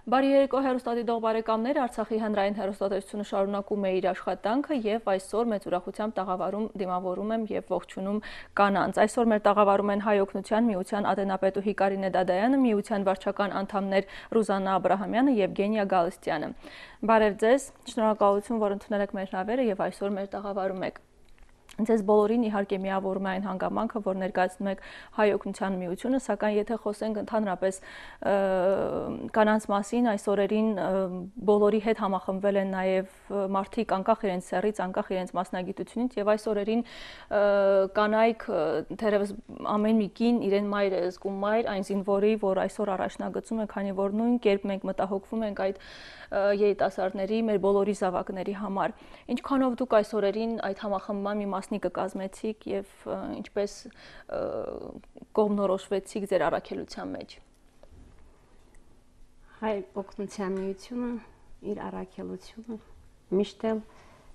Բարի երեկո հեռուստադիտող բարեկամներ, Արցախի հանրային հեռուստատեսությունը շարունակում է իր աշխատանքը եւ այսօր մեծ ուրախությամբ տաղավարում դիմավորում եմ եւ ողջունում կանանց։ Այսօր մեր տաղավարում են Հայ օգնության միության ատենապետուհի Կարինե Դադայանը, միության վարչական անդամներ Ռուզաննա Աբրահամյանը, Եվգենիա Գալստյանը։ Բարև ձեզ, շնորհակալություն, որ ընդունել եք մեր հրավերը եւ այսօր մեր տաղավարում եք։ Ձեզ բոլորին իհարկե միավորում է այն հանգամանքը, որ ներկայացնում եք Հայ օգնության միությունը, սակայն եթե խոսենք ընդհանրապես կանանց մասին, այս օրերին բոլորի հետ համախմբվել են նաև մարդիկ անկախ իրենց սեռից, անկախ իրենց մասնագիտությունից եւ այս օրերին կանայք թերևս ամեն մի կին իրեն մայր է զգում մայր այն զինվորի, որ այսօր առաջնագծում է, քանի որ նույն կերպ մենք մտահոգվում ենք այդ երիտասարդների, մեր բոլորի զավակների համար։ Ինչքանով դուք այս օրերին այդ համախմբման մի մասնիկը կազմեցիք եւ ինչպես կողմնորոշվեցիք ձեր առաքելության մեջ։ Հայ օգնության միությունը իր առաքելությունը միշտ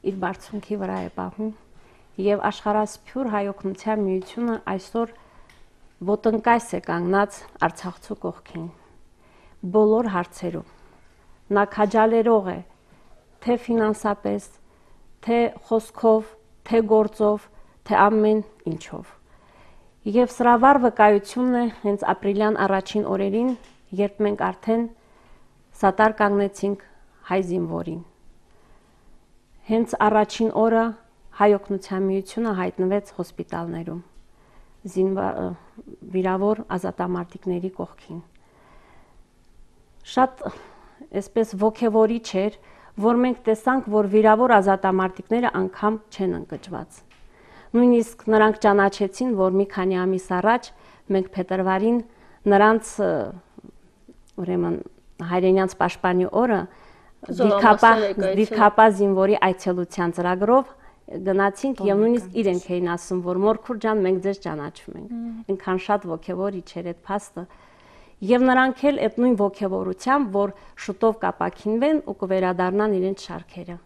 իր բարձունքի վրա է պահում եւ աշխարհասփյուր Հայ օգնության միությունը այսօր ոտնկայս է կանգնած Արցախցու կողքին բոլոր հարցերում։ Նա քաջալերող է թե ֆինանսապես, թե խոսքով, թե գործով, թե ամեն ինչով։ Եվ սրա վառ վկայությունն է հենց ապրիլյան առաջին օրերին, երբ մենք արդեն սատար կանգնեցինք հայ զինվորին։ Հենց առաջին օրը Հայ օգնության միությունը հայտնվեց հոսպիտալներում, վիրավոր ազատամարտիկների կողքին։ Շատ այսպես ոգևորիչ էր, որ մենք տեսանք, որ վիրավոր ազատամարտիկները անգամ չեն ընկճված։ Նույնիսկ նրանք ճանաչեցին, որ մի քանի ամիս առաջ մենք փետրվարին նրանց ուրեմն հայրենյանց պաշտպանի օրը դիրքապահ զինվորի այցելության ծրագրով գնացինք եւ նույնիսկ իրենք էին ասում, որ Մորքուր ջան, մենք ձեզ ճանաչում ենք։ Այնքան շատ ոգևորիչ էր այդ փաստը։ Եվ նրանք էլ այդ նույն ոգևորությամբ, որ շուտով կապակինվեն ու կվերադառնան իրենց շարքերը։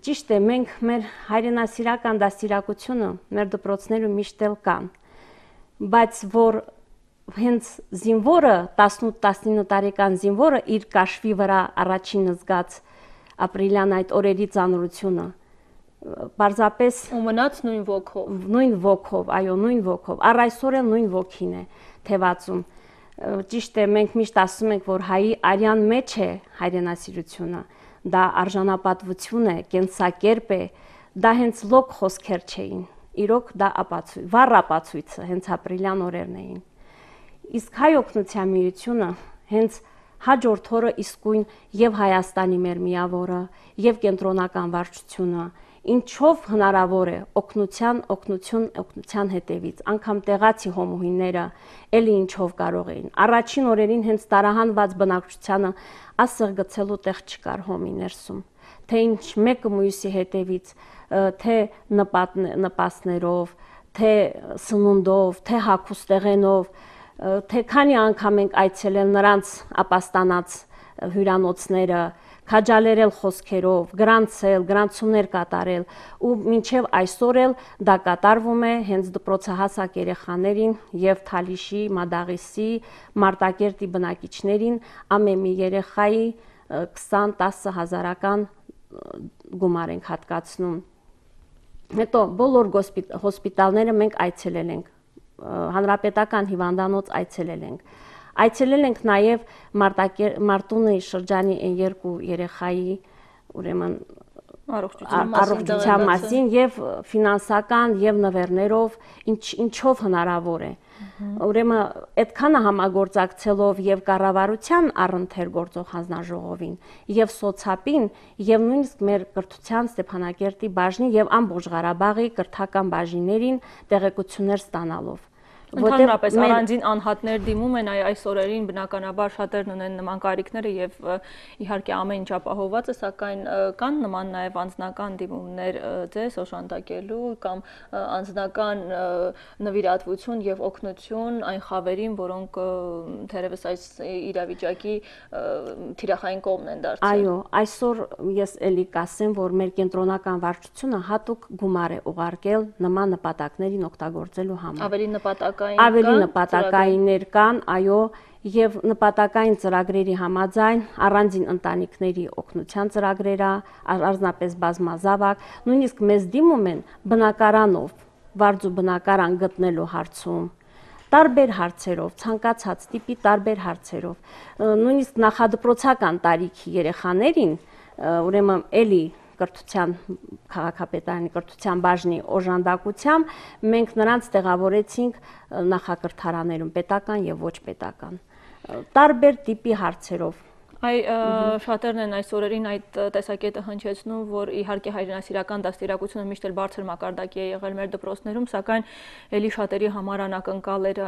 Ճիշտ է, մենք մեր հայրենասիրական դաստիարակությունը մեր դպրոցներում միշտ էլ կան, բայց որ հենց զինվորը 18-19 տարեկան զինվորը իր կաշվի վրա առաջին զգաց ապրիլյան այդ օրերի ծանրությունը, պարզապես ու մնաց նույն ոգով, այո, նույն ոգով, առ այսօր էլ նույն ոգին է թևածում։ Ճիշտ է, մենք միշտ ասում ենք, որ հայի արյան մեջ է հայրենասիրությունը, դա արժանապատվություն է, կենսակերպ է, դա հենց լոկ խոսքեր չէին, իրոք դա վառ ապացույցը հենց ապրիլյան օրերն էին։ Իսկ Հայ օգնության միությունը հենց հաջորդ օրը իսկույն եւ Հայաստանի մեր միավորը եւ կենտրոնական վարչությունը ինչով հնարավոր է օգնության հետևից, անգամ տեղացի հոմուհիները էլի ինչով կարող էին։ Առաջին օրերին հենց տարահանված բնակչությանը ասեղ գցելու տեղ չկար հոմի ներսում, թե ինչ մեկը մյուսի հետևից, թե նպաստներով, թե սնունդով, թե հագուստեղենով, թե քանի անգամ ենք այցելել նրանց ապաստանած հյուրանոցները, քաջալերել խոսքերով, գրանցումներ կատարել ու մինչև այսօր էլ դա կատարվում է հենց դպրոցահասակ երեխաներին եւ Թալիշի, Մադաղիսի, Մարտակերտի բնակիչներին ամեն մի երեխայի 20-10 հազարական գումար ենք հատկացնում։ Հետո բոլոր հոսպիտալները մենք այցելել ենք, հանրապետական հիվանդանոց այցելել ենք։ Այցելել ենք նաև Մարտունի շրջանի երկու երեխայի ուրեմն առողջության մասին եւ ֆինանսական եւ նվերներով ինչով հնարավոր է։ Ուրեմն այդքանը համագործակցելով եւ կառավարության առընթեր գործող հանձնաժողովին եւ սոցապին եւ նույնիսկ մեր կրթության Ստեփանակերտի բաժնի եւ ամբողջ Ղարաբաղի կրթական բաժիններին տեղեկություններ ստանալով։ Ընդհանրապես առանձին անհատներ դիմում են այս օրերին, բնականաբար շատերն ունեն նման կարիքները եւ իհարկե ամեն ինչ ապահովված է, սակայն կան նման նաեւ անձնական դիմումներ ձեզ օժանդակելու կամ անձնական նվիրատվություն եւ օգնություն այն խավերին, որոնք թերևս այս իրավիճակի թիրախային կողմն են դարձել։ Այո, այսօր ես էլի կասեմ, որ մեր կենտրոնական վարչությունը հատուկ գումար է ուղարկել նման նպատակներին օգտագործելու համար։ Ավելի նպատակ նպատակայիններ կան, այո, եւ նպատակային ծրագրերի համաձայն առանձին ընտանիքների օգնության ծրագրերը, առանձնապես բազմազավակ, նույնիսկ մեզ դիմում են բնակարանով, վարձու բնակարան գտնելու հարցում, տարբեր հարցերով, ցանկացած տիպի տարբեր հարցերով, նույնիսկ նախադպրոցական տարիքի երեխաներին, ուրեմն էլի կրթության քաղաքապետարանի կրթության բաժնի օժանդակությամբ մենք նրանց տեղավորեցինք նախակրթարաներում պետական եւ ոչ պետական տարբեր տիպի հարցերով շատերն են այս օրերին այդ տեսակետը հնչեցնում, որ իհարկե հայրենասիրական դաստիարակությունը միշտ էլ բարձր մակարդակի է եղել մեր դպրոցներում, սակայն էլի շատերի համար անակնկալ էր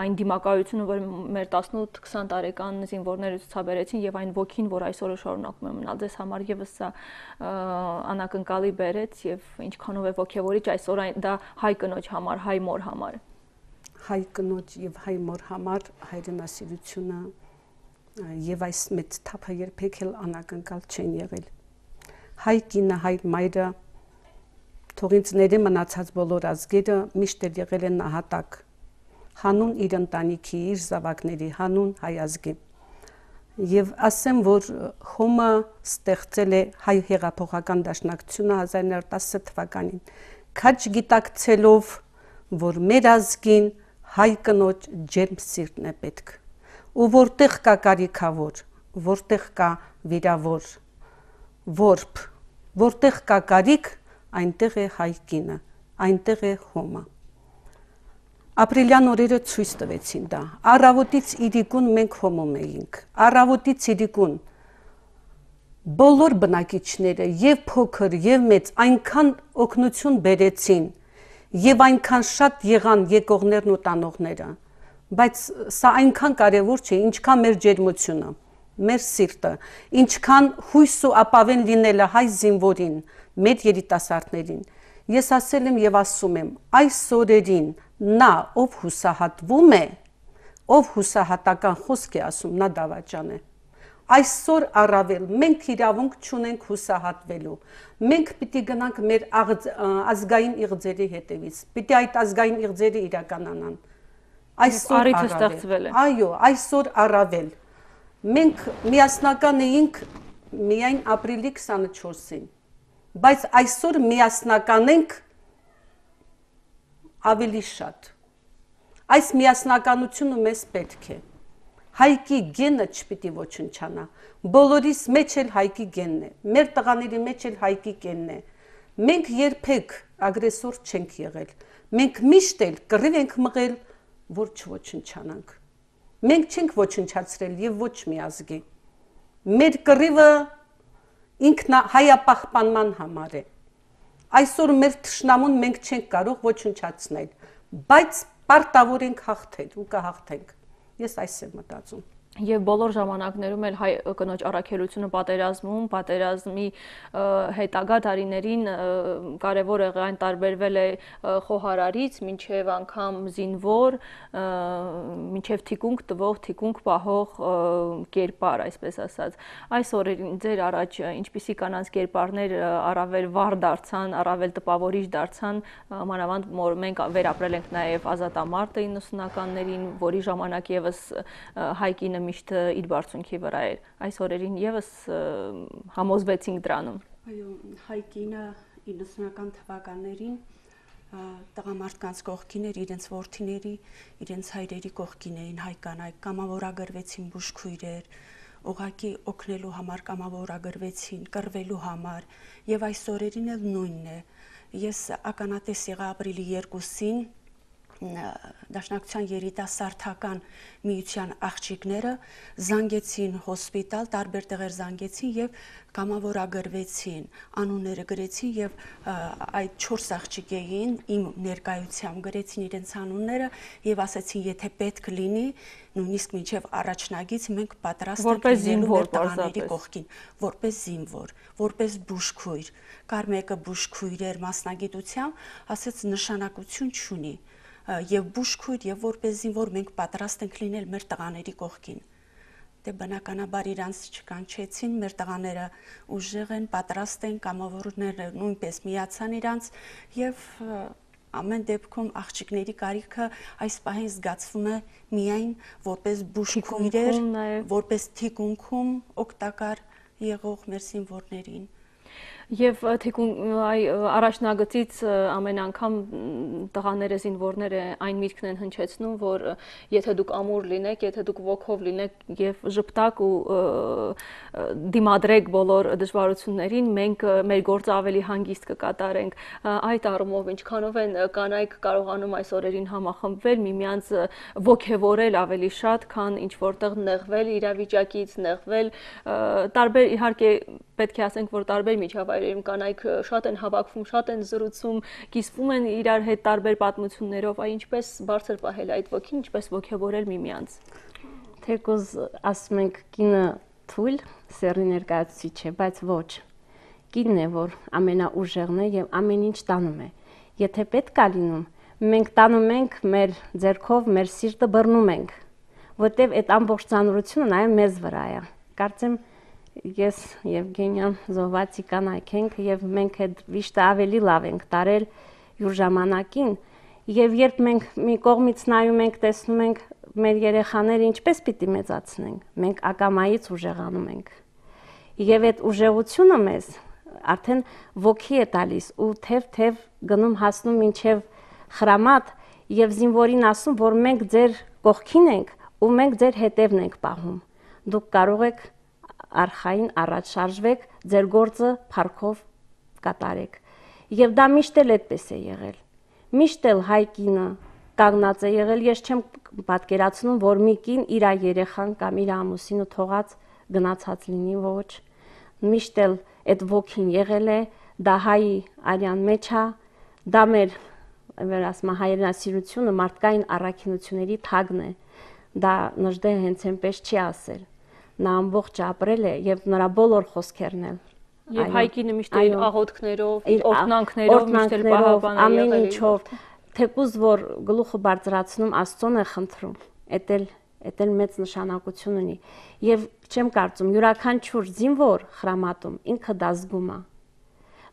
այն դիմակայությունը, որ մեր 18-20 տարեկան զինվորները ցուցաբերեցին եւ այն ոգին, որ այսօրը շարունակում է մնալ ձեզ համար եւս սա անակնկալի բերեց եւ ինչքանով է ոգևորիչ այսօր դա հայ կնոջ համար, հայ մոր համար։ Հայ կնոջ եւ հայ մոր համար հայրենասիրությունը եւ այս մեծ թափը երբեք էլ անակնկալ չեն եղել։ Հայ կինը, հայ մայրը, թող ինձ ների մնացած բոլոր ազգերը միշտ էլ եղել են նահատակ, հանուն իր ընտանիքի, իր զավակների, հանուն հայ ազգի։ Եվ ասեմ, որ Հոմը ստեղծել է հայ հեղափոխական դաշնակցությունը 1910 թվականին, քաջ գիտակցելով, որ մեր ազգին հայ կնոջ ջերմ սիրտն է պետք։ Ու որտեղ կա կարիքավոր, որտեղ կա վիրավոր, որբ, որտեղ կա կարիք, այնտեղ է հայ կինը, այնտեղ է Հոմը։ Ապրիլյան օրերը ցույց տվեցին դա։ Առավոտից իրիկուն մենք հոմում էինք։ Առավոտից իրիկուն բոլոր բնակիչները եւ փոքր եւ մեծ այնքան օգնություն բերեցին եւ այնքան շատ եղան եկողներն ու տանողները։ Բայց սա այնքան կարևոր չէ, ինչքան մեր ջերմությունը, մեր սիրտը, ինչքան հույս ու ապավեն լինելը հայ զինվորին, մեր երիտասարդներին։ Ես ասել եմ եւ ասում եմ, այս օրերին նա ով հուսահատվում է, ով հուսահատական խոսք է ասում, նա դավաճան է։ Այսօր առավել մենք իրավունք չունենք հուսահատվելու։ Մենք պիտի գնանք մեր ազգային իղձերի հետևից։ Պիտի այդ ազգային իղձերը իրականանան։ Այսօր առավել։ Այո, այսօր առավել։ Մենք միասնական էինք միայն ապրիլի 24-ին, բայց այսօր միասնական ենք ավելի շատ։ Այս միասնականությունը մեզ պետք է։ Հայկի գենը չպիտի ոչնչանա։ Բոլորիս մեջ էլ հայկի գենն է։ Մեր տղաների մեջ էլ հայկի գենն է։ Մենք երբեք ագրեսոր չենք եղել։ Մենք միշտ էլ կռիվ ենք մղել, որ չոչնչանանք։ Մենք չենք ոչնչացրել եւ ոչ մի ազգի։ Մեր կռիվը հայապահպանման համար է։ Այսօր մեր թշնամուն մենք չենք կարող ոչնչացնել, բայց պարտավոր ենք հաղթել ու կհաղթենք։ Ես այս եմ մտածում։ Եվ բոլոր ժամանակներում էլ հայ կնոջ առաքելությունը պատերազմում, պատերազմի հետագա տարիներին կարևոր է այն տարբերվել է խոհարարից, մինչև անգամ զինվոր, մինչև թիկունք տվող, թիկունք պահող կերպար, այսպես ասած։ Այս օրերին ձեր առաջ ինչպիսի կանանց կերպարներ առավել վառ դարձան, առավել տպավորիչ դարձան, մանավանդ որ մենք վերապրել ենք նաև ազատամարտը 90-ականներին, որի ժամանակ եւս հայ կինը միշտ իր բարձունքի վրա էր։ Այս օրերին եւս համոզվեցինք դրանում։ Այո, հայ կինը 90-ական թվականներին տղամարդկանց կողքին էր, իրենց որդիների, իրենց հայրերի կողքին էին հայ կանայք, կամավորագրվեցին բուժքույրեր, ուղղակի օգնելու համար կամավորագրվեցին, կռվելու համար, եւ այս օրերին էլ նույնն է։ Ես ականատես եղա ապրիլի 2-ին Դաշնակցության երիտասարդական միության աղջիկները զանգեցին հոսպիտալ, տարբեր տեղեր զանգեցին եւ կամավորագրվեցին, անունները գրեցին եւ այդ 4 աղջիկ էին, իմ ներկայությամբ գրեցին իրենց անունները եւ ասացին, եթե պետք լինի, նույնիսկ մինչեւ առաջնագից մենք պատրաստ ենք լինելու մեր տղաների կողքին, որպես զինվոր, որպես բուժքույր, կար մեկը բուժքույր էր մասնագիտությամբ, ասաց նշանակություն չունի։ Եվ բուժքույր եւ որպես զինվոր մենք պատրաստ ենք լինել մեր տղաների կողքին։ Դե բնականաբար իրանց չկանչեցին, մեր տղաները ուժեղ են, պատրաստ են, կամավորները նույնպես միացան իրանց եւ ամեն դեպքում աղջիկների կարիքը այս պահին զգացվում է միայն որպես բուժքույրեր, որպես թիկունքում օգտակար եղող մեր զինվորներին։ Եվ առաջնագծից ամեն անգամ տղաները, զինվորները այն միտքն են հնչեցնում, որ եթե դուք ամուր լինեք, եթե դուք ոգով լինեք եւ ժպտակ ու դիմադրեք բոլոր դժվարություններին, մենք մեր գործը ավելի հանգիստ կկատարենք։ Այդ առումով ինչքանով են կանայք կարողանում այս օրերին համախմբվել, միմյանց ոգևորել ավելի շատ, քան ինչ որտեղ նեղվել իրավիճակից, նեղվել տարբեր, իհարկե պետք է ասենք, որ տարբեր միջավայրերում կանայք շատ են հավաքվում, շատ են զրուցում, կիսվում են իրար հետ տարբեր պատմություններով, ինչպես բարձր պահել այդ ոգին, ինչպես ոգևորել միմյանց։ Թեկուզ ասում ենք կինը թույլ սեռի ներկայացուցիչ է, բայց ոչ։ Կինն է, որ ամենաուժեղն է եւ ամեն ինչ տանում է։ Եթե պետք է լինում, մենք տանում ենք մեր ձեռքով, մեր սիրտը բռնում ենք, որտեւ այդ ամբողջ ծանրությունը նաեւ մեզ վրա է։ Կարծեմ ես Եվգենիան զոհվածի կանայք ենք եւ մենք այդ վիշտը ավելի լավ ենք տարել յուր ժամանակին եւ երբ մենք մի կողմից նայում ենք, տեսնում ենք մեր երեխաները ինչպես պիտի մեծացնենք, մենք ակամայից ուժեղանում ենք եւ այդ ուժեղությունը մեզ արդեն ոգի է տալիս ու թեև գնում հասնում մինչեւ խրամատ եւ զինվորին ասում, որ մենք ձեր կողքին ենք ու մենք ձեր հետևն ենք պահում, դուք կարող եք արխային առաջ շարժվեք, ձեր գործը փառքով կատարեք։ Եվ դա միշտ էլ այդպես է եղել։ Միշտ էլ հայ կինը կանգնած է եղել, ես չեմ պատկերացնում, որ մի կին իր երեխան կամ իր ամուսինը թողած գնացած լինի, ոչ։ Միշտ էլ այդ ոգին եղել է, դա հայի արյան մեջ է, դա մեր ասма հայրենասիրությունը մարդկային առաքինությունների թագն է։ Դա նժդե հենց այնպես չի ասել։ Նա ամբողջ ապրել է եւ նրա բոլոր խոսքերն էլ եւ հայկինը միշտ իր աղոթքներով, իր օրհնանքներով միշտ էլ պահապան է եղել, ամեն ինչով, թեկուզ որ գլուխը բարձրացնում Աստծուն է խնդրում, էդ էլ մեծ նշանակություն ունի եւ չեմ կարծում յուրաքանչյուր զինվոր խրամատում ինքը դա զգում է։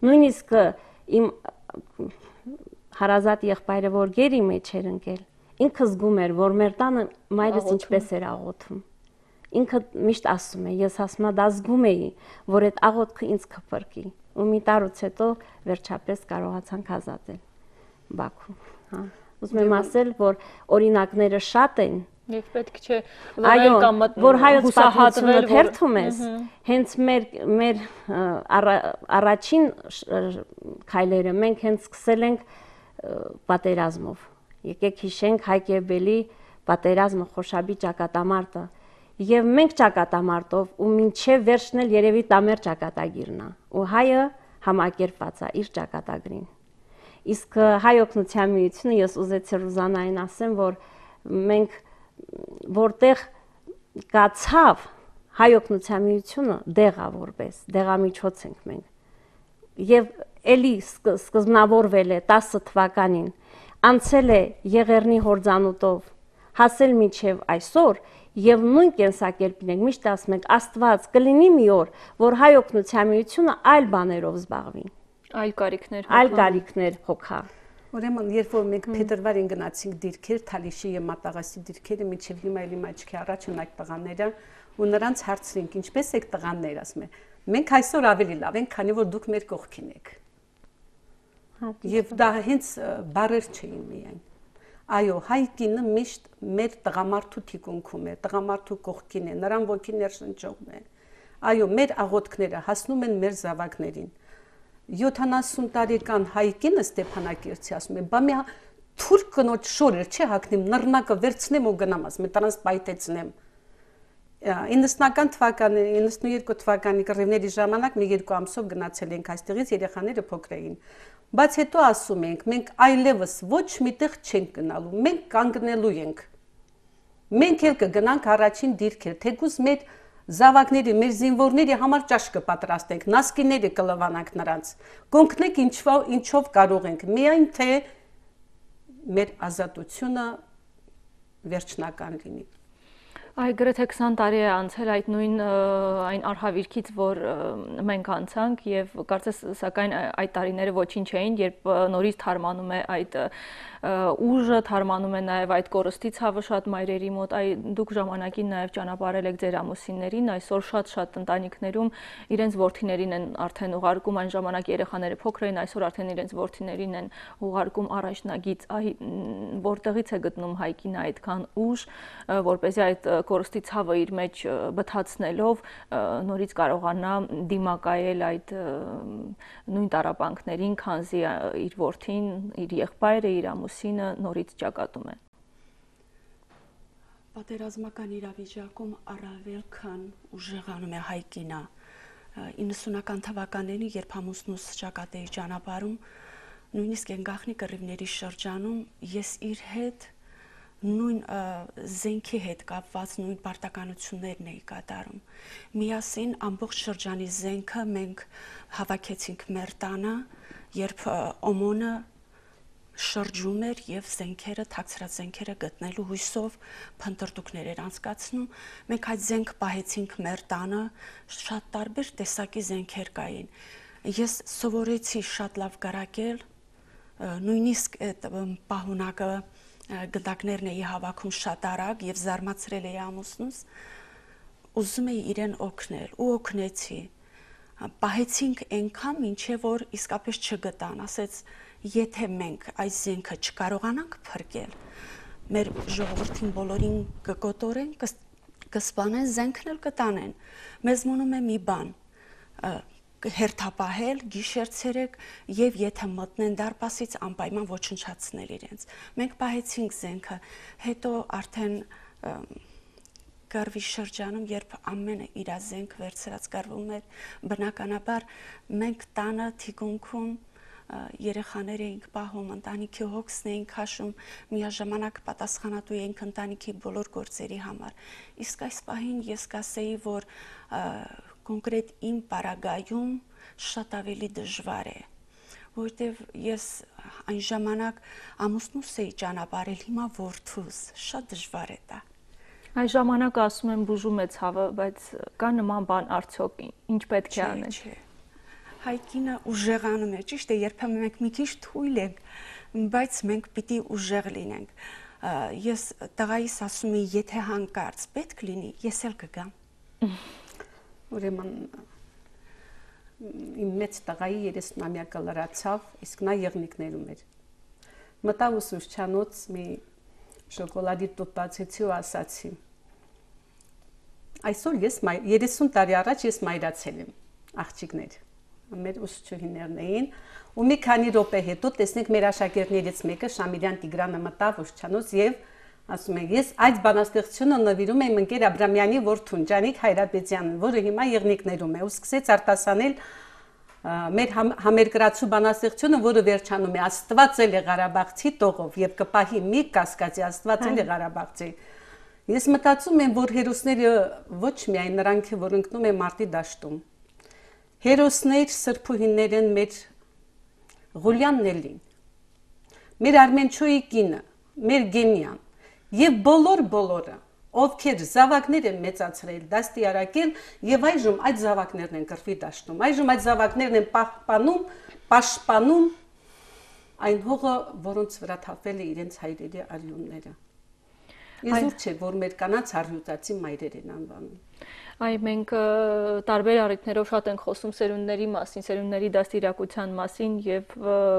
Նույնիսկ իմ հարազատ եղբայրը որ գերի մեջ էր ընկել, ինքը զգում էր, որ մեր տանը մայրս ինչպես էր աղոթում։ Ինքը միշտ ասում է, ես ասում եմ դա զգում էի, որ այդ աղոթքը ինձ կփրկի։ Ու մի տարուց հետո վերջապես կարողացանք ազատել Բաքու, հա։ Ուզում եմ ասել, որ օրինակները շատ են։ Եվ պետք չէ լրել կամ որ հայոց պատմությունը թերթում ես, հենց մեր առաջին քայլերը մենք հենց սկսել ենք պատերազմով։ Եկեք հիշենք Հայկ Եբելի պատերազմը, Խոշաբի ճակատամարտը։ Եվ մենք ճակատամարտով ու մինչև վերջն էլ երևի տամեր ճակատագիրն է ու հայը համակերպված է իր ճակատագրին։ Իսկ հայ օգնության միությունը ես ուզեցի Ռուզանային ասեմ, որ մենք որտեղ կա ցավ հայ օգնության միությունը դեղա որպես դեղամիջոց ենք մենք։ Եվ էլի սկզբնավորվել է 10 թվականին, անցել է Եղեռնի հորձանուտով, հասել մինչև այսօր եւ նույն կենսակերպին ենք միշտ ասում ենք Աստված կլինի մի օր, որ հայ օգնության միությունը այլ բաներով զբաղվի, այլ կարիքներ հոգա։ Ուրեմն երբ որ մենք փետրվարին գնացինք դիրքեր, Թալիշի եւ Մատաղասի դիրքերը, միջև հիմա էլի մաչքի առաջ ունակ տղաները ու նրանց հարցրինք, ինչպես եք տղաներ, ասում են։ Մենք այսօր ավելի լավ ենք, քանի որ դուք մեր կողքին եք։ Եվ դա հենց բարեր չէին միայն։ Այո, հայ կինը միշտ մեր տղամարդու թիկունքում է, տղամարդու կողքին է, նրան ոգի ներշնչողն է։ Այո, մեր աղոթքները հասնում են մեր զավակներին։ 70 տարեկան հայ կինը Ստեփանակերտի ասում է, բա մի թուրք կնոջ շորեր չի հագնեմ, նռնակը վերցնեմ ու գնամ, ասում է, տրանս պայթեցնեմ։ 90-ական թվականի, 92 թվականի կռիվների ժամանակ մի երկու ամսով գնացել ենք այստեղից, երեխաները փոքր էին։ Բայց հետո ասում ենք, մենք այլևս ոչ միտեղ չենք գնալու, մենք կանգնելու ենք։ Մենք էլ կգնանք առաջին դիրքեր, թեկուզ մեր զավակների, մեր զինվորների համար ճաշ կպատրաստենք, նասկիները կլվանանք նրանց, կօգնենք ինչով կարող ենք, միայն թե մեր ազատությունը վերջնական լինի։ Այ գրեթե 20 տարի է անցել այդ նույն այն արհավիրքից, որ մենք անցանք եւ կարծես սակայն այդ տարիները ոչինչ չէին, երբ նորից թարմանում է այդ ուժը, թարմանում է նաեւ այդ կորստի ցավը շատ մայրերի մոտ։ Այ դուք ժամանակին նաեւ ճանապարհել եք ձեր ամուսիններին, այսօր շատ ընտանիքներում իրենց որդիներին են արդեն ուղարկում, այն ժամանակ երեխաները փոքր էին, այսօր արդեն իրենց որդիներին են ուղարկում առաջնագիծ։ Այ որտեղից է գտնում Հայկին այդքան ուժ, որպեսզի այդ կորստի ցավը իր մեջ բթացնելով նորից կարողանա դիմակայել այդ նույն տառապանքներին, քանզի իր որդին, իր եղբայրը, իր ամուսինը նորից ճակատում են։ Պատերազմական իրավիճակում առավել քան ուժեղանում է Հայկինը 90-ական թվականներին, երբ ամուսնուս ճակատ էի ճանապարհում, նույնիսկ այն գաղտնի կռիվների շրջանում ես իր հետ նույն զենքի հետ կապված նույն պարտականություններն էի կատարում։ Միասին ամբողջ շրջանի զենքը մենք հավաքեցինք մեր տանը, երբ օմոնը շրջում էր եւ զենքերը, թաքցրած զենքերը գտնելու հույսով փնտրտուքներ էր անցկացնում։ Մենք այդ զենք պահեցինք մեր տանը, շատ տարբեր տեսակի զենքեր կային։ Ես սովորեցի շատ լավ գրակել, նույնիսկ այդ պահունակը գնդակներն էի հավաքում շատ արագ եւ զարմացրել էի ամուսնուս, ուզում էի իրեն օգնել ու օգնեցի։ Պահեցինք այնքան, մինչև որ իսկապես չգտան, ասեց, եթե մենք այս զենքը չկարողանանք փրկել, մեր ժողովրդին բոլորին կկոտորեն, կսպանեն, զենքն էլ կտանեն։ Մեզ մնում է մի բան, հերթապահել, գիշեր-ցերեկ եւ եթե մտնեն դարպասից անպայման ոչնչացնել իրենց։ Մենք պահեցինք զենքը, հետո արդեն կռվի շրջանում, երբ ամենը իր զենք վերցրած կռվում էր, բնականաբար մենք տանը թիկունքում երեխաներ էինք պահում, ընտանիքի հոգսն էինք քաշում, միաժամանակ պատասխանատու էինք ընտանիքի բոլոր գործերի համար։ Իսկ այս պահին ես կասեի, որ կոնկրետ իմ պարագայում շատ ավելի դժվար է, որտեվ ես այն ժամանակ ամուսնուս էի ճանապարհել, հիմա որդուս, շատ դժվար է դա։ Այս ժամանակ ասում եմ բուժում է ցավը, բայց կա նման բան արդյոք ինչ պետք է անել։ Հայկինը ուժեղանում է, ճիշտ է, երբեմն մենք մի քիչ թույլ ենք, բայց մենք պիտի ուժեղ լինենք։ Ես տղայիս ասում եմ, եթե հանկարծ պետք լինի, ես էլ կգամ։ Ուրեմն իմ մեծ տղայի 30-ամյակը լրացավ, իսկ նա եղնիկներում էր։ Մտավ ուսուցչանոց, մի շոկոլադի տուփ բացեցի ու ասացի. այսօր ես 30 տարի առաջ ես մայրացել եմ, աղջիկներ։ Մեր ուսուցչուհիներն էին, ու մի քանի րոպե հետո տեսնենք մեր աշակերտներից մեկը Շամիրյան Տիգրանը մտավ ուսուցչանոց եւ ասում է, ես այդ բանաստեղծությունը նվիրում եմ ընկեր Աբրամյանի որդուն Ջանիկ Հայրապետյանին, որը հիմա եղնիկներում է, ու սկսեց արտասանել մեր համերկրացու բանաստեղծությունը, որը վերջանում է Աստված էլ է Ղարաբաղցի տողով եւ կպահի մի կասկածի Աստված էլ է Ղարաբաղցի։ Ես մտածում եմ, որ հերոսները ոչ միայն նրանք, որ ընկնում են մարտի դաշտում, հերոսներ սրբուհիներ են մեր Ղուլյանն էլին, մեր Արմենչոյի կինը, մեր Գենյան եւ բոլորը, ովքեր զավակներ են մեծացրել, դաստիարակել եւ այժմ այդ զավակներն են կռվի դաշտում, այժմ այդ զավակներն են պաշտպանում այն հողը, որոնց վրա թափվել է իրենց հայրերի արյունները։ Իզուր չէ, որ մեր կանանց առյուծացի մայրեր են անվանում։ Այ մենք տարբեր առիթներով շատ ենք խոսում սերունդների մասին, սերունդների դաստիարակության մասին եւ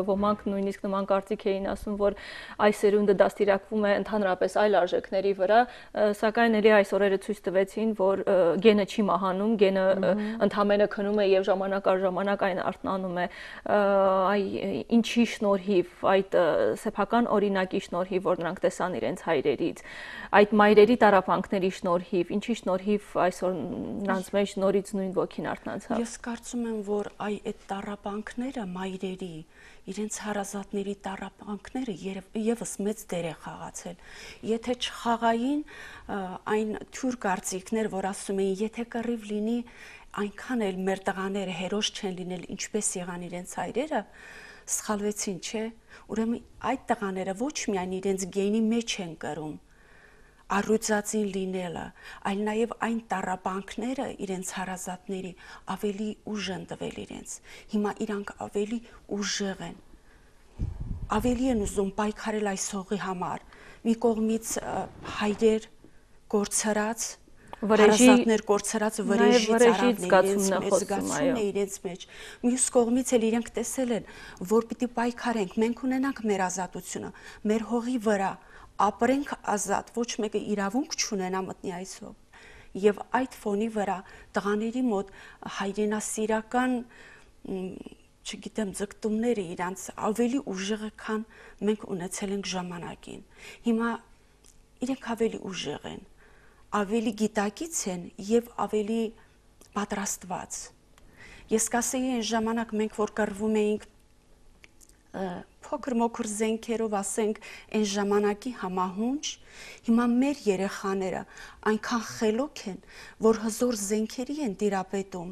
ոմանք նույնիսկ նման կարծիք էին ասում, որ այս սերունդը դաստիարակվում է ընդհանրապես այլ արժեքների վրա, սակայն ելի այս օրերը ցույց տվեցին, որ գենը չի մահանում, գենը ընդհանրապես քնում է եւ ժամանակ առ ժամանակ այն արթնանում է։ Այ ինչի շնորհիվ, այդ սեփական օրինակի շնորհիվ, որ նրանք տեսան իրենց հայրերից, այդ մայրերի տառապանքների շնորհիվ, ինչի շնորհիվ այսօր նրանց մեջ նորից նույն ոգին արթնացավ։ Ես կարծում եմ, որ այդ տառապանքները մայրերի, իրենց հարազատների տառապանքները եւս մեծ դեր է խաղացել։ Եթե չխաղային այն թյուր կարծիքներ, որ ասում էին, եթե կռիվ լինի, այնքան էլ մեր տղաները հերոս չեն լինել, ինչպես եղան իրենց հայրերը, սխալվեցին, չէ՞։ Ուրեմն այդ տղաները ոչ միայն իրենց գենի մեջ են կրում, առույցածին լինելը, այլ նաև այն տառապանքները իրենց հարազատների ավելի ուժ են տվել իրենց։ Հիմա իրանք ավելի ուժեղ են, ավելի են ուզում պայքարել այս հողի համար։ Մի կողմից հայրեր կորցրած, հարազատներ կորցրած վրեժի զգացումն է իրենց մեջ։ Մյուս կողմից էլ իրենք տեսել են, որ պիտի պայքարենք, մենք ունենանք մեր ազատությունը, մեր հողի վրա, ապրենք ազատ, ոչ մեկը իրավունք չունենա մտնի այս հող։ Եվ այդ ֆոնի վրա տղաների մոտ հայրենասիրական, չգիտեմ, ձգտումները իրանց ավելի ուժեղ է, քան մենք ունեցել ենք ժամանակին։ Հիմա իրենք ավելի ուժեղ են, ավելի գիտակից են եւ ավելի պատրաստված։ Ես կասեի այն ժամանակ մենք որ կռվում էինք փոքր մոքր զենքերով, ասենք, այն ժամանակի համահունչ, հիմա մեր երեխաները այնքան խելոք են, որ հզոր զենքերի են տիրապետում,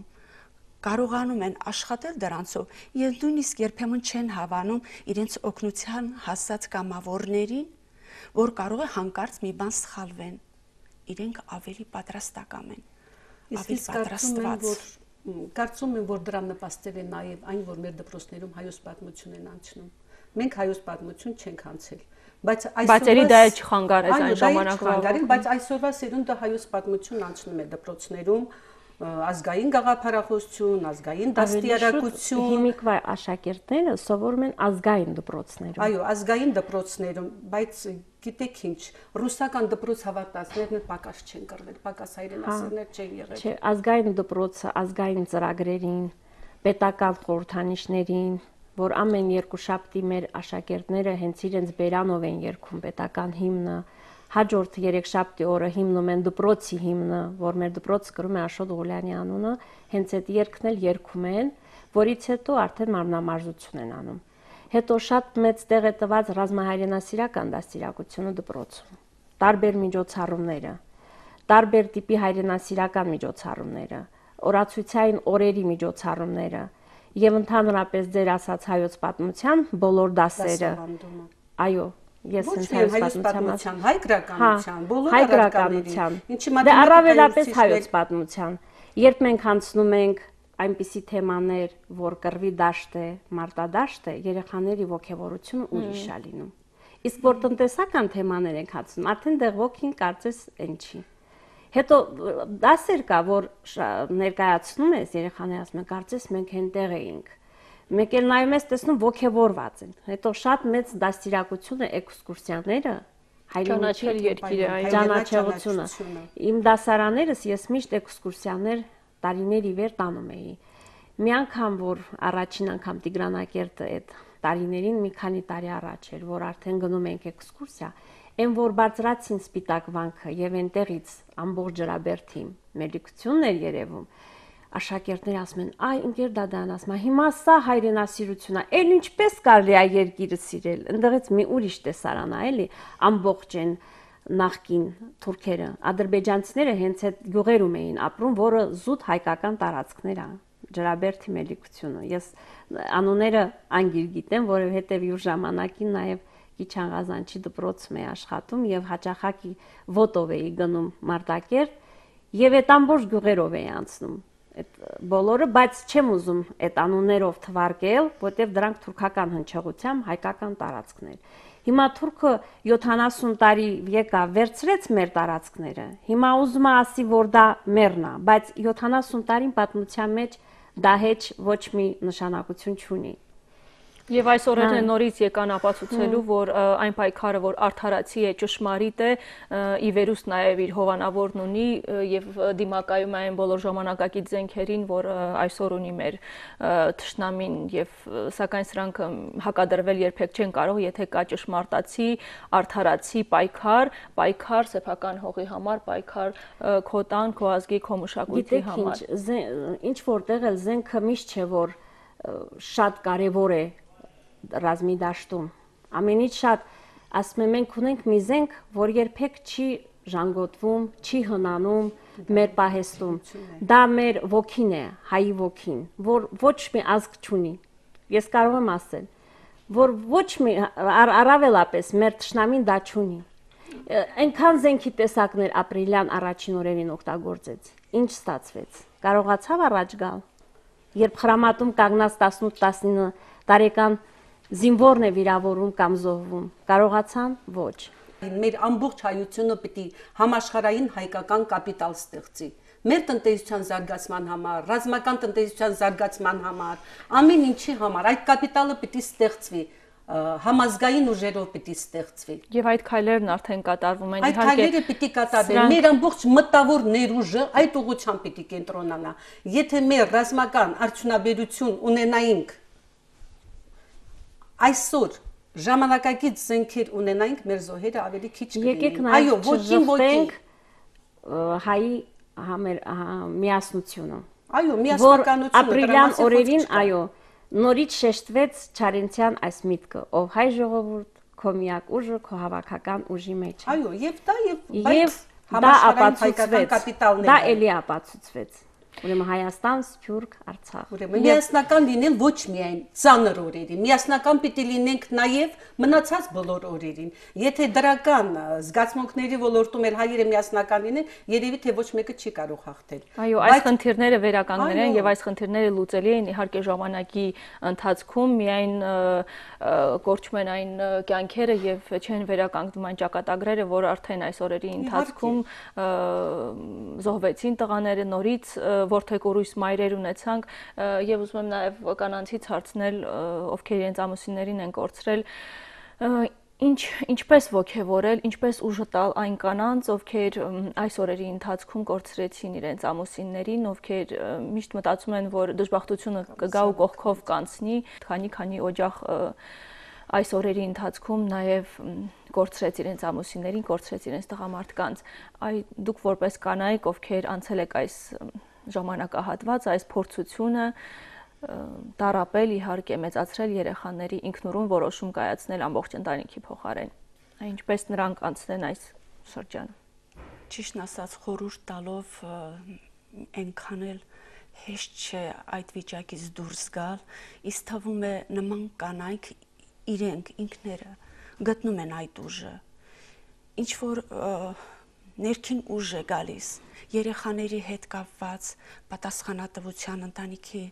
կարողանում են աշխատել դրանցով եւ նույնիսկ երբեմն չեն հավանում իրենց օգնության հասած կամավորներին, որ կարող է հանկարծ մի բան սխալվեն։ Իրենք ավելի պատրաստական են, ավելի պատրաստված։ Կարծում եմ, որ դրան նպաստել է նաև այն, որ մեր դպրոցներում հայոց պատմություն են անցնում։ Մենք հայոց պատմություն չենք անցել, բայց ելի դա չխանգարեց այն ժամանակվա, բայց այսօրվա սերունդը հայոց պատմություն անցնում է դպրոցներում, ազգային գաղափարախոսություն, ազգային դաստիարակություն։ Հիմիկվա աշակերտները սովորում են ազգային դպրոցներում։ Այո, ազգային դպրոցներում, բայց գիտեք ինչ, ռուսական դպրոց հավատացներն պակաս չեն կրվել, պակաս հայրենասերներ չեն եղել։ Չէ, ազգային դպրոցը ազգային ծրագրերին, պետական խորհրդանիշներին, որ ամեն երկուշաբթի մեր աշակերտները հենց իրենց բերանով են երգում պետական հիմնը, հաջորդ երեքշաբթի օրը հիմնում են դպրոցի հիմնը, որ մեր դպրոցը կրում է Աշոտ Ղուլյանի անունը, հենց այդ երգն էլ երգում են, որից հետո արդեն մարմնամարզություն են անում։ Հետո շատ մեծ տեղ է տված ռազմահայրենասիրական դաստիարակությունը դպրոցում, տարբեր միջոցառումները, տարբեր տիպի հայրենասիրական միջոցառումները, օրացույցային օրերի միջոցառումները եւ ընդհանրապես ձեր ասած հայոց պատմության բոլոր դասերը։ Այո, ես հայոց պատմության, հայ գրականության, բոլոր առարկաներին, դե առավելապես հայոց պատմության։ Երբ մենք անցնում ենք այնպիսի թեմաներ, որ կռվի դաշտ է, մարտադաշտ է, երեխաների ոգևորությունը ուրիշ է լինում։ Իսկ որ տնտեսական թեմաներ ենք հացնում, արդեն դեղ ոգին կարծես այն չի։ Հետո դասեր կա, որ ներկայացնում ես, երեխաները ասում են, կարծես մենք այնտեղ էինք։ Մեկ էլ նայում ես, տեսնում ոգևորված են։ Հետո շատ մեծ դաստիարակություն է էքսկուրսիաները, ճանաչել երկիրը, ճանաչողությունը։ Իմ դասարաններս ես միշտ էքսկուրսիաներ տարիներ ի վեր տանում էի։ Մի անգամ, որ առաջին անգամ Տիգրանակերտը այդ տարիներին մի քանի տարի առաջ էր, որ արդեն գնում ենք էքսկուրսիա, այն որ բարձրացին Սպիտակ վանքը եւ այնտեղից ամբողջ Ջրաբերդին մելիքությունն էր երևում, աշակերտները ասում են, այ ընկեր Դադան ասում, հիմա սա հայրենասիրություն է, էլ ինչպես կարելի է երկիրը սիրել, այնտեղից մի ուրիշ տեսարան է, էլի, ամբողջ են նախկին թուրքերը, ադրբեջանցիները հենց այդ գյուղերում էին ապրում, որը զուտ հայկական տարածքներ է, Ջրաբերդի մելիքությունը։ Ես անունները անգիր գիտեմ, որովհետև յուր ժամանակին նաև Կիչանղազանչի դպրոցում էի աշխատում եւ հաճախակի ոտով էի գնում Մարտակերտ եւ այդ ամբողջ գյուղերով էի անցնում։ Այդ բոլորը, բայց չեմ ուզում այդ անուններով թվարկել, որտեղ դրանք թուրքական հնչեղությամբ հայկական տարածքներ։ Հիմա թուրքը 70 տարի եկավ, վերցրեց մեր տարածքները։ Հիմա ուզում է ասի, որ դա մերն է, բայց 70 տարին պատմության մեջ դա հեչ ոչ մի նշանակություն չունի։ Եվ այս օրերն նորից եկան ապացուցելու, որ այն պայքարը, որ արդարացի է, ճշմարիտ է, ի վերուստ նաև իր հովանավորն ունի եւ դիմակայում է այն բոլոր ժամանակակից զենքերին, որ այսօր ունի մեր թշնամին եւ սակայն սրանք հակադրվել երբեք չեն կարող, եթե կա ճշմարտացի, արդարացի պայքար սեփական հողի համար, պայքար քո տան, քո ազգի, քո մշակույթի համար։ Ինչ որտեղ էլ զենքը միշտ չէ, որ շատ կարեւոր է ռազմի դաշտում։ Ամենից շատ ասում եմ մենք ունենք մի զենք, որ երբեք չի ժանգոտվում, չի հնանում մեր պահեստում։ Դա մեր ոգին է, հայի ոգին, որ ոչ մի ազգ չունի։ Ես կարող եմ ասել, որ ոչ մի առավելապես մեր թշնամին դա չունի։ Այնքան զենքի տեսակներ ապրիլյան առաջին օրերին օգտագործեց։ Ինչ ստացվեց։ Կարողացավ առաջ գալ։ Երբ խրամատում կանգնած 18-19 տարեկան զինվորն է վիրավորում կամ զոհվում, կարողացան ոչ։ Մեր ամբողջ հայությունը պիտի համաշխարհային հայկական կապիտալ ստեղծի։ Մեր տնտեսության զարգացման համար, ռազմական տնտեսության զարգացման համար, ամեն ինչի համար այդ կապիտալը պիտի ստեղծվի, համազգային ուժերով պիտի ստեղծվի։ Եվ այդ քայլերն արդեն կատարվում են, Այդ քայլերը պիտի կատարվեն։ Մեր ամբողջ մտավոր ներուժը այդ ուղղությամբ պիտի կենտրոնանա։ Եթե մեր ռազմական արդյունաբերություն ունենայինք այսօր ժամանակակից զենքեր ունենայինք, մեր զոհերը ավելի քիչ կլինեին։ Այո, ոչինչ ոչինչ հայի միասնությունը։ Այո, միասնականությունը։ Ապրիլյան օրերին, այո, նորից շեշտվեց Չարենցյան այս միտքը, ով հայ ժողովուրդ, քո միակ ուժը, քո հավաքական ուժի մեջ է։ Այո, եւ դա դա ապացուցվեց, դա էլի ապացուցվեց։ Ուրեմն Հայաստան, Սփյուռք, Արցախ։ Ուրեմն միասնական լինել ոչ միայն ծանր օրերին, միասնական պիտի լինենք նաև մնացած բոլոր օրերին։ Եթե դրական զգացմունքների ոլորտում էլ հայերը միասնական լինեն, երևի թե ոչ մեկը չի կարող հաղթել։ Այո, այս խնդիրները վերականգնել են եւ այս խնդիրները լուծելի են իհարկե ժամանակի ընթացքում, միայն կորչում են այն կյանքերը եւ չեն վերականգնում այն ճակատագրերը, որ արդեն այս օրերի ընթացքում զոհվեցին տղաները նորից որդեկորույս մայրեր ունեցանք եւ ուզում եմ նաեւ կանանցից հարցնել, ովքեր իրենց ամուսիններին են կորցրել, ինչպես ոգևորել, ինչպես ուժ տալ այն կանանց, ովքեր այս օրերի ընթացքում կորցրեցին իրենց ամուսիններին, ովքեր միշտ մտածում են, որ դժբախտությունը կգա ու կողքով կանցնի, քանի օջախ այս օրերի ընթացքում նաև կորցրեց իրենց ամուսիններին, կորցրեց իրենց տղամարդկանց։ Դուք որպես կանայք, ովքեր անցել եք այս ժամանակահատված, այս փորձությունը տարապել, իհարկե մեծացրել երեխաների ինքնուրույն որոշում կայացնել ամբողջ ընտանիքի փոխարեն։ Ինչպես նրանք անցնեն այս շրջանը։ Ճիշտն ասած, խորհուրդ տալով այնքան էլ հեշտ չէ այդ վիճակից դուրս գալ, իսկ թվում է նման կանայք իրենք ինքները գտնում են այդ ուժը, ինչ որ ներքին ուժ է գալիս, երեխաների հետ կապված, պատասխանատվության, ընտանիքի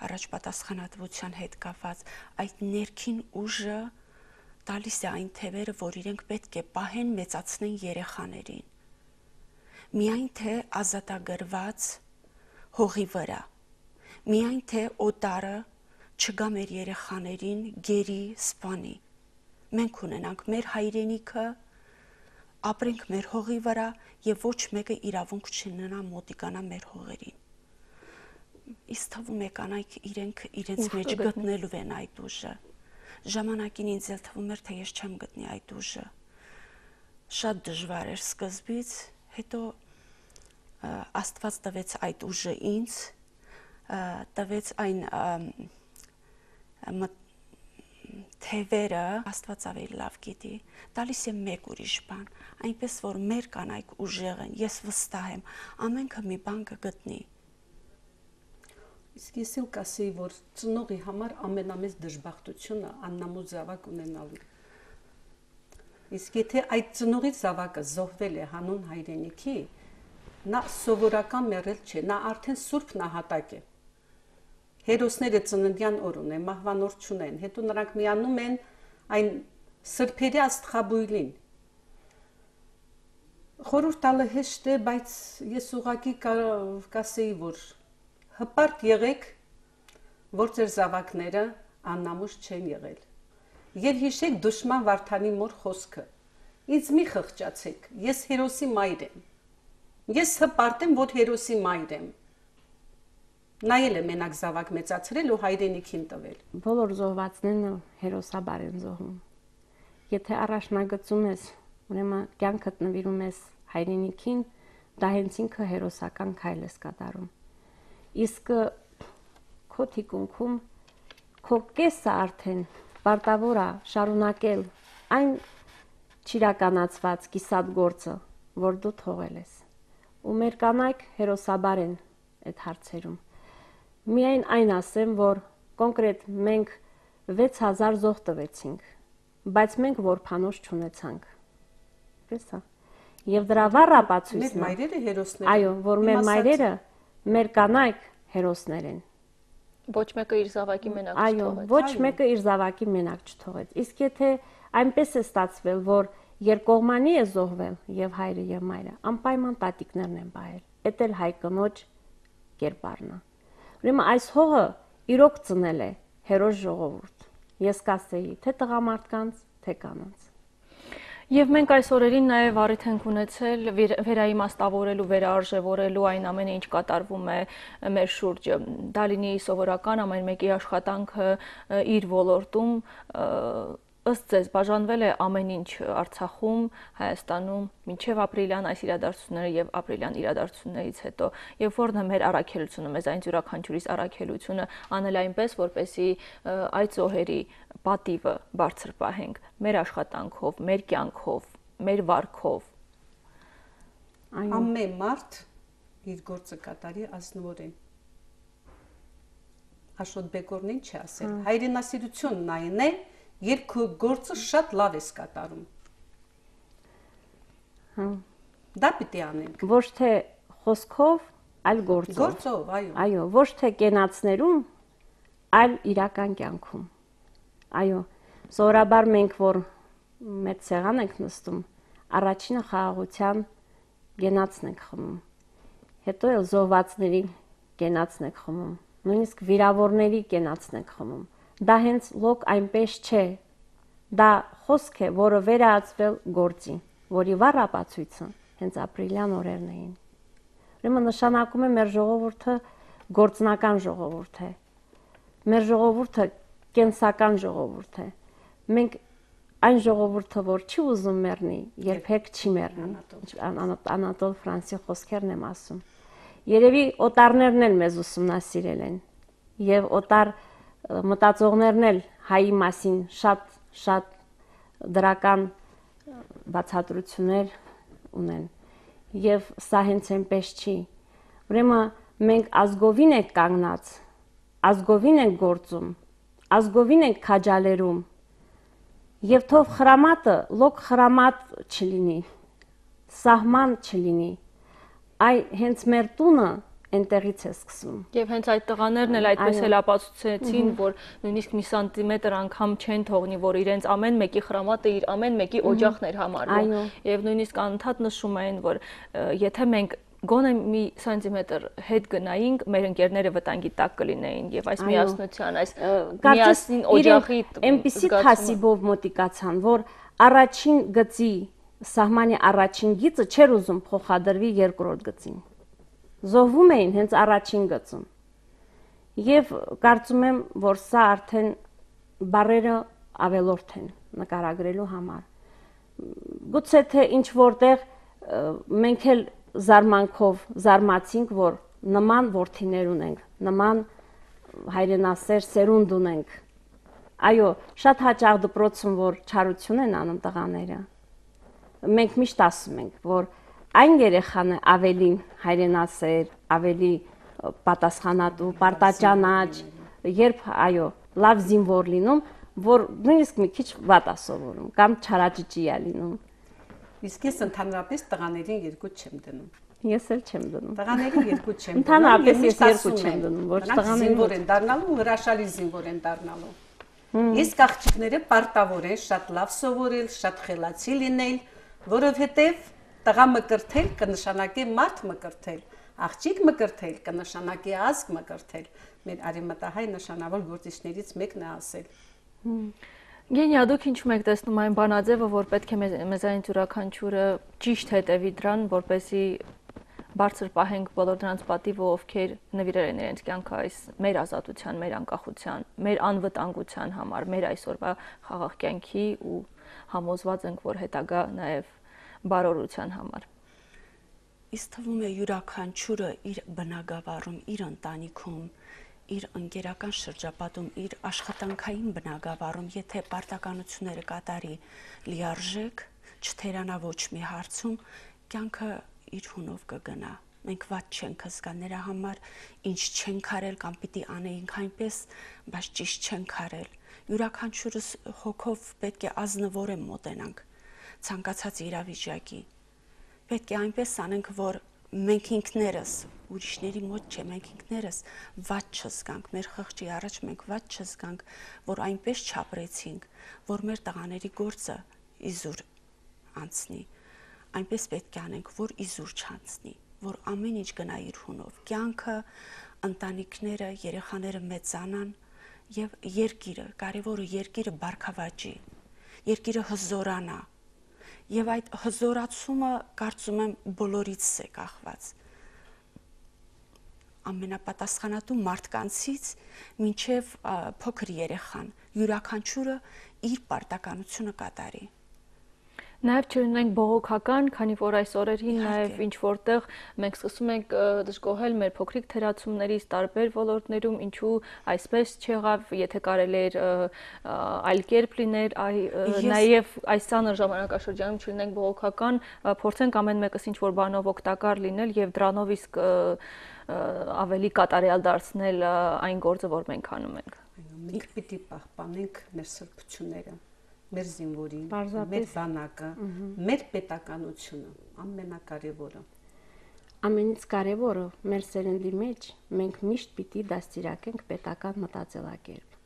առաջ պատասխանատվության հետ կապված, այդ ներքին ուժը տալիս է այն թևերը, որ իրենք պետք է պահեն, մեծացնեն երեխաներին։ Միայն թե ազատագրված հողի վրա, միայն թե օտարը չգա մեր երեխաներին գերի սպանի։ Մենք ունենանք մեր հայրենիքը, ապրենք մեր հողի վրա եւ ոչ մեկը իրավունք չունենա մոտիկանա մեր հողերին։ Իսկ թվում է կանայք իրենց մեջ գտնելու են այդ ուժը։ Ժամանակին ինձ էլ թվում էր, թե ես չեմ գտնի այդ ուժը։ Շատ դժվար էր սկզբից, հետո Աստված տվեց այդ ուժը ինձ, տվեց այն թևերը, Աստված ավելի լավ գիտի, տալիս է մեկ ուրիշ բան, այնպես որ մեր կանայք ուժեղ են, ես վստահ եմ, ամենքը մի բան կգտնի։ Իսկ ես էլ կասեի, որ ծնողի համար ամենամեծ դժբախտությունը աննամու զավակ ունենալու։ Իսկ եթե այդ ծնողի զավակը զոհվել է հանուն հայրենիքի, նա սովորական մեռել չէ, նա արդեն սուրբ նահատակ է։ Հերոսները ծննդյան օր ունեն, մահվան օր չունեն, հետո նրանք միանում են այն սրբերի աստղաբույլին։ Խորհուրդ տալը հեշտ է, բայց ես ուղղակի կասեի, որ հպարտ եղեք, որ ձեր զավակները աննամուս չեն եղել։ Եվ հիշեք Դուշման Վարդանի մոր խոսքը. ինձ մի խղճացեք, ես հերոսի մայր եմ։ Ես հպարտ եմ, որ հերոսի մայր եմ։ Նայել է մենակ զավակ մեծացրել ու հայրենիքին տվել։ Բոլոր զոհվածներն հերոսաբար են զոհում։ Եթե առաջնագծում ես, ուրեմն կյանքդ նվիրում ես հայրենիքին, դա հենց ինքը հերոսական քայլ ես կատարում։ Իսկ քո թիկունքում քո կեսը արդեն պարտավոր է շարունակել այն չիրականացված կիսատ գործը, որ դու թողել ես։ Ու մեր կանայք հերոսաբար են այդ հարցերում։ Միայն այն ասեմ, որ կոնկրետ մենք 6000 զոհ տվեցինք, բայց մենք որբանոց չունեցանք։ այդպես է։ Եվ դրա վառ Մեր ապացույցն է։ մայրերը հերոսներ են։ Այո, որ մեր մայրերը, մեր կանայք հերոսներ են։ Ոչ մեկը իր զավակի մենակ Այո, չթողեց։ ոչ մեկը իր զավակի մենակ չթողեց։ Իսկ եթե այնպես է ստացվել, որ երկկողմանի է զոհվել եւ հայրը եւ մայրը, անպայման տատիկներն են բայել։ Էդ էլ հայ կնոջ կերպարն է։ Ուրեմն այս հողը իրոք ծնել է հերոս ժողովուրդ։ Ես կասեի, թե տղամարդկանց, թե կանանց։ Եվ մենք այս օրերին նաև առիթ ենք ունեցել վերաիմաստավորելու, վերարժևորելու այն ամենը, ինչ կատարվում է մեր շուրջը։ Դա լինի սովորական ամեն մեկի աշխատանքը իր ոլորտում, ըստ ձեզ բաժանվել է ամեն ինչ Արցախում, Հայաստանում, մինչև ապրիլյան այս իրադարձությունները եւ ապրիլյան իրադարձություններից հետո, եւ որն է մեր առաքելությունը, մեզ այն յուրաքանչյուրիս առաքելությունը անել այնպես, որպեսզի այդ զոհերի պատիվը բարձր պահենք մեր աշխատանքով, մեր կյանքով, մեր վարքով։ Ամեն մարդ իր գործը կատարի ազնվորեն։ Աշոտ Բեկորն ինչ է ասել։ Հայրենասիրությունն այն է, երբ քո գործը շատ լավ ես կատարում։ Դա պիտի անենք։ Ոչ թե խոսքով, այլ գործով։ Գործով, այո։ Այո, ոչ թե կենացներում, այլ իրական կյանքում։ Այո, սովորաբար մենք որ մեծ սեղան ենք նստում, առաջինը խաղաղության գենացն ենք խմում։ Հետո էլ զոհվածների գենացն ենք խմում, նույնիսկ վիրավորների գենացն ենք խմում։ Դա հենց լոկ այնպես չէ։ Դա խոսք է, որը վերածվել գործի, որի վառ ապացույցը հենց ապրիլյան օրերն էին։ Ուրեմն նշանակում է մեր ժողովուրդը գործնական ժողովուրդ է։ Մեր ժողովուրդը կենսական ժողովուրդ է։ Մենք այն ժողովուրդը, որ չի ուզում մեռնի, երբեք չի մեռնի։ Անատոլ Ֆրանսի խոսքերն եմ ասում։ Երևի օտարներն էլ մեզ ուսումնասիրել են եւ օտար մտածողներն էլ հայի մասին շատ դրական բացատրություններ ունեն եւ սա հենց այնպես չի։ Ուրեմն մենք ազգովին ենք կանգնած, ազգովին ենք գործում, ազգովին ենք քաջալերում եւ թող խրամատը լոկ խրամատ չլինի, սահման չլինի, այ հենց մեր տունը այնտեղից է սկսվում։ Եվ հենց այդ տղաներն էլ այդպես էլ ապացուցեցին, որ նույնիսկ մի սանտիմետր անգամ չեն թողնի, որ իրենց ամեն մեկի խրամատը իր ամեն մեկի օջախն էր համարվում։ Եվ նույնիսկ անընդհատ նշում էին, որ եթե մենք գոնե մի սանտիմետր հետ գնայինք, մեր ընկերները վտանգի տակ կլինեին եւ այս միասնության, այս միասին օջախի այնպիսի քասիբով մոտիկացան, որ առաջին գծի սահմանի առաջին գիծը չէր ուզում փոխադրվի երկրորդ գծին։ Զոհվում էին հենց առաջին գծում։ Եվ կարծում եմ, որ սա արդեն բարերը ավելորդ են նկարագրելու համար։ Գուցե թե ինչ որտեղ մենք էլ զարմանքով զարմացինք, որ նման որդիներ ունենք, նման հայրենասեր սերունդ ունենք։ Այո, շատ հաճախ դպրոցում որ չարություն են անում տղաները։ Մենք միշտ ասում ենք, որ այն երեխան է ավելի հայրենասեր, ավելի պատասխանատու, պարտաճանաչ, երբ այո, լավ զինվոր լինում, որ նույնիսկ մի քիչ վատ է սովորում կամ չարաճճի է լինում։ Իսկ ես ընդհանրապես տղաներին երկու չեմ դնում։ Ես էլ չեմ դնում։ Տղաներին երկու չեմ դնում։ Ընդհանրապես ես երկու չեմ դնում, ոչ տղաներին զինվոր են դառնալու, հրաշալի զինվոր են դառնալու։ Իսկ աղջիկները պարտավոր են շատ լավ սովորել, շատ խելացի լինել, որովհետև տղա մկրտել կնշանակի մարդ մկրտել, աղջիկ մկրտել կնշանակի ազգ մկրտել։ Մեր արևմտահայ նշանավոր գործիչներից մեկն է ասել։ Գենիա, դուք ինչու եք տեսնում այն բանաձևը, որ պետք է մեզանից յուրաքանչյուրը ճիշտ հետևի դրան, որպեսզի բարձր պահենք բոլոր նրանց պատիվը, ովքեր նվիրել են իրենց կյանքը այս մեր ազատության, մեր անկախության, մեր անվտանգության համար, մեր այսօրվա խաղաղ կյանքի ու համոզված ենք, որ հետագա նաև բարօրության համար։ Իսկ թվում է յուրաքանչյուրը իր բնակավարում, իր ընտանիքում, իր ընկերական շրջապատում, իր աշխատանքային բնակավարում, եթե պարտականությունները կատարի լիարժեք, չթերանա ոչ մի հարցում, կյանքը իր հունով կգնա։ Մենք ված չենք զգա նրա համար, ինչ չենք արել կամ պիտի անեինք այնպես, բայց ճիշտ չենք արել։ Յուրաքանչյուրս հոգով պետք է ազնվորեն մոտենանք։ ցանկացած իրավիճակի։ Պետք է այնպես անենք, որ մենք ինքներս ուրիշների մոտ չէ, մենք ինքներս վատ չզգանք, մեր խղճի առաջ մենք վատ չզգանք, որ այնպես չապրեցինք, որ մեր տղաների գործը իզուր անցնի։ Այնպես պետք է անենք, որ իզուր չանցնի, որ ամեն ինչ գնա իր հունով։ Կյանքը, ընտանիքները, երեխաները մեծանան եւ երկիրը, կարևորը երկիրը բարգավաճի, երկիրը հզորանա։ Եվ այդ հզորացումը կարծում եմ բոլորից է կախված։ Ամենապատասխանատու մարդկանցից մինչև փոքր երեխան, յուրաքանչյուրը իր պարտականությունը կատարի։ Նաև չլինենք բողոքական, քանի որ այս օրերին նաև ինչ որտեղ մենք սկսում ենք դժգոհել մեր փոքրիկ թերացումներից տարբեր ոլորտներում, ինչու այսպես չեղավ, եթե կարելի էր այլ կերպ լիներ, նաև այս ցաներ ժամանակաշրջանում չլինենք բողոքական, փորձենք ամեն մեկս ինչ որ բանով օգտակար լինել եւ դրանով իսկ ավելի կատարյալ դարձնել այն գործը, որ մենք անում ենք։ Մենք պիտի պահպանենք մեր սրբությունները, մեր զինվորին, մեր բանակը, մեր պետականությունը, ամենակարևորը։ Ամենից կարևորը մեր սերնդի մեջ մենք միշտ պիտի դաստիարակենք պետական մտածելակերպ։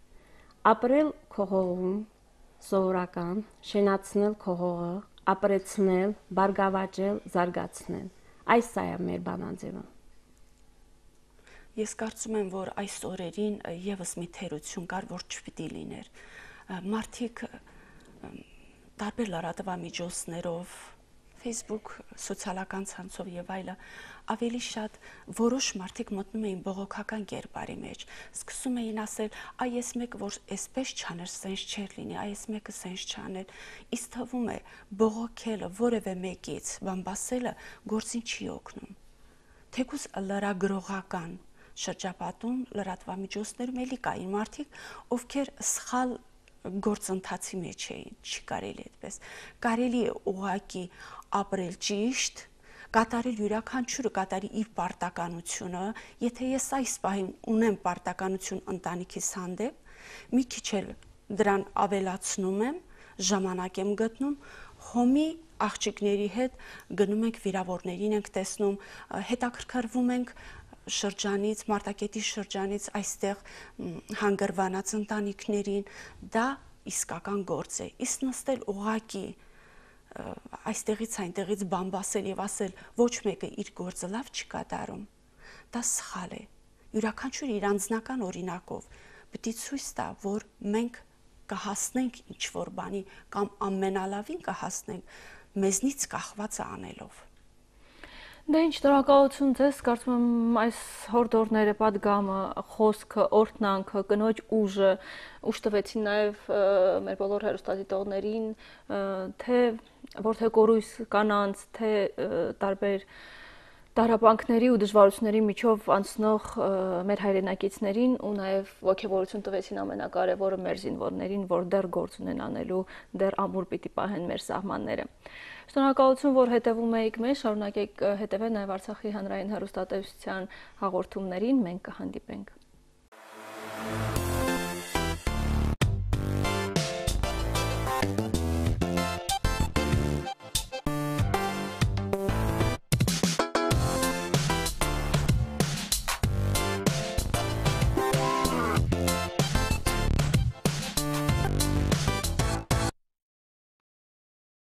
Ապրել քո հողում, սովորական, շենացնել քո հողը, ապրեցնել, բարգավաճել, զարգացնել։ Այս է մեր բանաձևը։ Ես կարծում եմ, որ այս օրերին եւս մի թերություն կար, որ չպիտի լիներ։ Մարդիկ տարբեր լրատվամիջոցներով, Facebook, սոցիալական ցանցով եւ այլը ավելի շատ որոշ մարդիկ մտնում էին բողոքական կերպարի մեջ, սկսում էին ասել, այ ես մեկը որ այսպես չաներ, սենց չէր լինի, այ ես մեկը սենց չաներ։ Իսկ թվում է բողոքելը որևէ մեկից բամբասելը գործին չի օգնում։ Թեկուզ լրագրողական շրջապատում լրատվամիջոցներում էլի կային մարդիկ, ովքեր սխալ գործընթացի մեջ էին, չի կարելի այդպես։ Կարելի է ուղղակի ապրել ճիշտ, կատարել յուրաքանչյուրը կատարի իր պարտականությունը, եթե ես այս պահին ունեմ պարտականություն ընտանիքիս հանդեպ, մի քիչ էլ դրան ավելացնում եմ, ժամանակ եմ գտնում, հոմի աղջիկների հետ գնում ենք վիրավորներին ենք տեսնում, հետաքրքրվում ենք շրջանից, Մարտակետի շրջանից այստեղ հանգրվանած ընտանիքներին, դա իսկական գործ է։ Իսկ նստել ուղակի այստեղից այնտեղից բամբասել եւ ասել ոչ մեկը իր գործը լավ չի կատարում, դա սխալ է։ Յուրաքանչյուր իր անձնական օրինակով պիտի ցույց տա, որ մենք կհասնենք ինչ որ բանի կամ ամենալավին կհասնենք մեզնից կախվածը անելով։ Դե ինչ շնորհակալություն ձեզ, կարծում եմ այս հորդորները, պատգամը, խոսքը, օրհնանքը, կնոջ ուժը ուժ տվեցին նաև մեր բոլոր հեռուստադիտողներին, թե որթե կորույս կանանց, թե տարբեր տառապանքների ու դժվարությունների միջով անցնող մեր հայրենակիցներին ու նաև ողջավորություն տվեցին ամենակարևորը մեր զինվորներին, որ դեռ գործ ունեն անելու, դեռ ամուր պիտի պահեն մեր սահմանները։ Շնորհակալություն, որ հետևում եք մեզ, շարունակեք հետևել նաև Արցախի հանրային հեռուստատեսության հաղորդումներին, մենք կհանդիպենք։